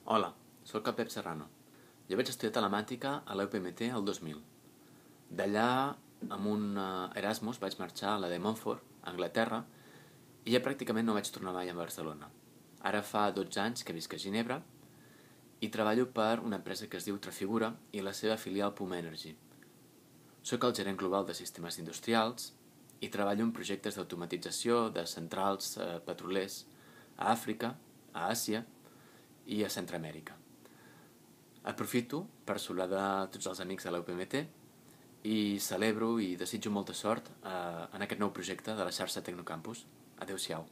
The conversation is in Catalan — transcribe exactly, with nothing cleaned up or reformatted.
Hola, sóc el Pep Serrano. Jo vaig estudiar telemàtica a la U P M T el dos mil. D'allà, amb un eh, Erasmus, vaig marxar a la de Montfort, a Anglaterra, i ja pràcticament no vaig tornar mai a Barcelona. Ara fa dotze anys que visc a Ginebra i treballo per una empresa que es diu Trafigura i la seva filial Puma Energy. Soc el gerent global de sistemes industrials i treballo en projectes d'automatització de centrals eh, petrolers a Àfrica, a Àsia i a Centroamèrica. Aprofito per saludar de tots els amics de la U P M T i celebro i desitjo molta sort eh, en aquest nou projecte de la xarxa Tecnocampus. Adéu-siau.